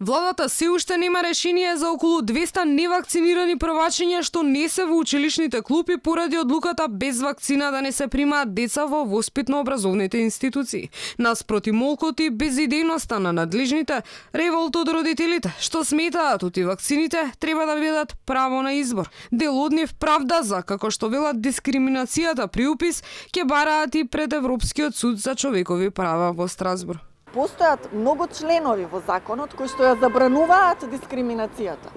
Владата се уште нема решение за околу 200 невакцинирани првачиња што не се во училишните клупи поради одлуката без вакцина да не се примаат деца во воспитно-образовните институции. Наспроти молкот и безидејноста на надлежните, револт од родителите, што сметаат оти вакцините треба да бидат право на избор. Дел од нив правда за, како што велат, дискриминацијата при упис, ќе бараат и пред Европскиот суд за човекови права во Страсбург. Постојат многу членови во законот кои што ја забрануваат дискриминацијата.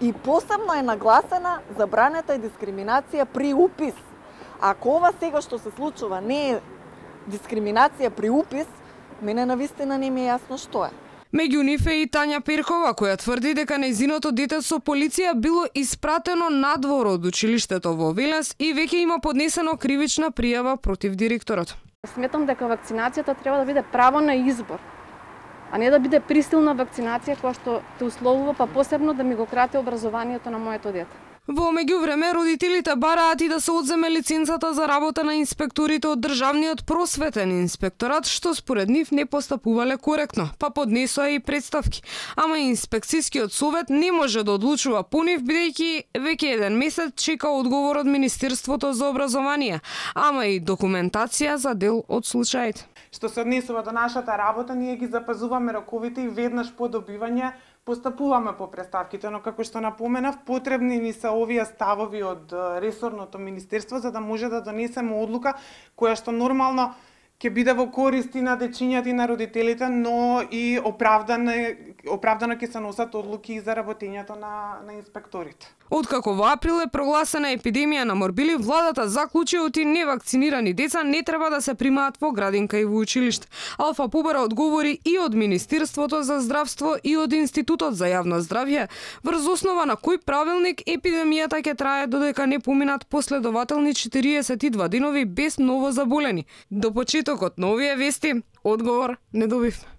И посебно е нагласена забраната и дискриминација при упис. Ако ова сега што се случува не е дискриминација при упис, мене навистина не ми е јасно што е. Меѓу нив е и Тања Перкова, која тврди дека нејзиното дете со полиција било испратено надвор од училиштето во Велес и веќе има поднесено кривична пријава против директорот. Сметам дека вакцинацијата треба да биде право на избор, а не да биде присилна вакцинација која што те условува, па посебно да ми го крате образованието на моето дете. Во меѓувреме, родителите бараат и да се одземе лиценцата за работа на инспекторите од Државниот просветен инспекторат, што според нив не постапувале коректно, па поднесоа и представки. Ама инспекцијскиот совет не може да одлучува по нив, бидејќи веќе еден месец чека одговор од Министерството за образование, ама и документација за дел од случаите. Што се однесува до нашата работа, ние ги запазуваме роковите и веднаш по добивање постапуваме по представките, но како што напоменав, потребни ни се овие ставови од ресорното министерство за да може да донесеме одлука која што нормално ќе биде во корист и на дечињата и на родителите, но и оправдано ќе се носат одлуки и за работењето на инспекторите. Откако во април е прогласена епидемија на морбили, владата заклучи оти невакцинирани деца не треба да се примаат во градинка и во училиште. Алфа Побара одговори и од Министерството за здравство и од Институтот за јавно здравје, врз основа на кој правилник епидемијата ќе трае додека не поминат последователни 42 денови без ново заболени. До почетокот на овие вести, одговор не добивме.